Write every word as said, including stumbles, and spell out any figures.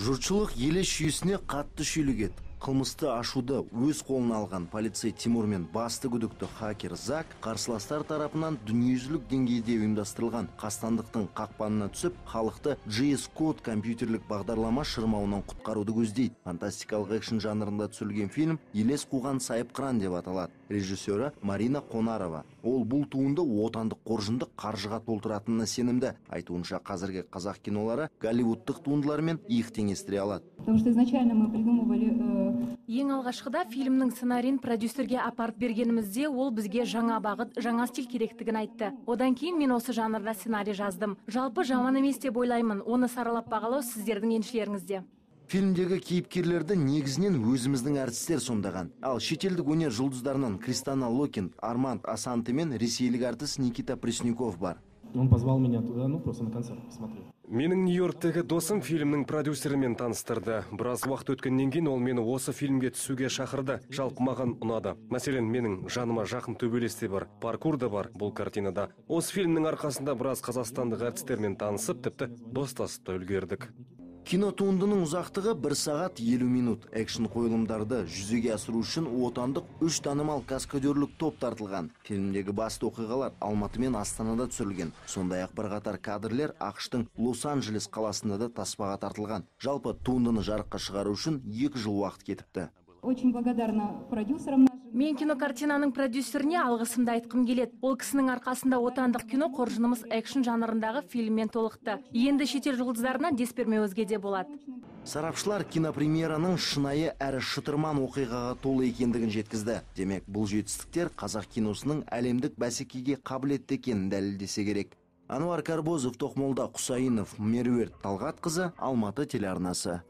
Жұртшылық еле шүйесіне қатты шүйлігет. Қылмысты ашуды өз қолына алған полицей Тимур мен басты күдікті хакер Зак қарсыластар тарапынан дүниежүзілік деңгейде ұйымдастырылған қастандықтың қақпанына түсіп, халықты джи эс Code компьютерлік бағдарлама шырмауынан құтқаруды көздейді. Фантастикалық экшн жанрында түсірілген фильм елес қуған сайып қыран деп аталады. Режиссері Марина Қонарова. Ол бұл туынды отандық қоржынды қаржыға толтыратынына сенімді. Айтуынша қазіргі қазақ кинолары голливудтық туындылармен иық теңестіре алады. Потому что изначально мы придумывали. Ең алғашқыда фильмнің сценарийін продюсерге апарып бергенімізде ол бізге жаңа бағыт, жаңа стиль керектігін айтты. Одан кейін мен осы жанрда сценарий жаздым. Жалпы жаман емес деп ойлаймын. Оны саралап бағалау сіздердің еншілеріңізде. Фильмдегі кейіпкерлерді негізінен өзіміздің әртістер сомдаған. Ал шетелдік өнер жұлдыздарынан Кристина Локин, Арманд Асанте мен ресейлік әртіс Никита Пресняков бар. Он позвал меня туда, ну просто на концерт посмотреть. Менің Нью-Йорктегі досым фильмнің продюсерімен таныстырды. Біраз уақыт өткеннен кейін ол мені осы фильмге түсуге шақырды. Жалпы маған ұнады. Мәселен, менің жаныма жақын төбелес те бар, паркур да бар бұл картинада. Осы фильмнің арқасында біраз қазақстандық әртістермен танысып, тіпті достасып та үлгердік. Кинотуындының ұзақтығы бір сағат елу минут. Экшн қойылымдарды жүзеге асыру үшін отандық үш танымал каскадерлік топ тартылған. Фильмдегі басты оқиғалар Алматы мен Астанада түсірілген. Сондай-ақ бірқатар кадрлер ақштың Лос-Анджелес қаласында да таспаға тартылған. Жалпы туындыны жарыққа шығару үшін екі жыл уақыт кетіпті. Очень благодарна продюсерам. Мен кинокартинаның продюсеріне алғысымды айтқым келеді. Ол кісінің арқасында отандық кино қоржынымыз экшн жанрындағы фильммен толықты. Енді шетел жұлдыздарынан дес бермеу өзге де болады. Сарапшылар кинопремьераның шынайы әрі шытырман оқиғаға толы екендігін жеткізді. Демек, бұл жетістіктер қазақ киносының әлемдік бәсекеге қабілетті екенін дәлелдесе керек. Ануар Карбозов, Тоқмолда Құсайынов, Меруерт Талғатқызы, Алматы телеарнасы.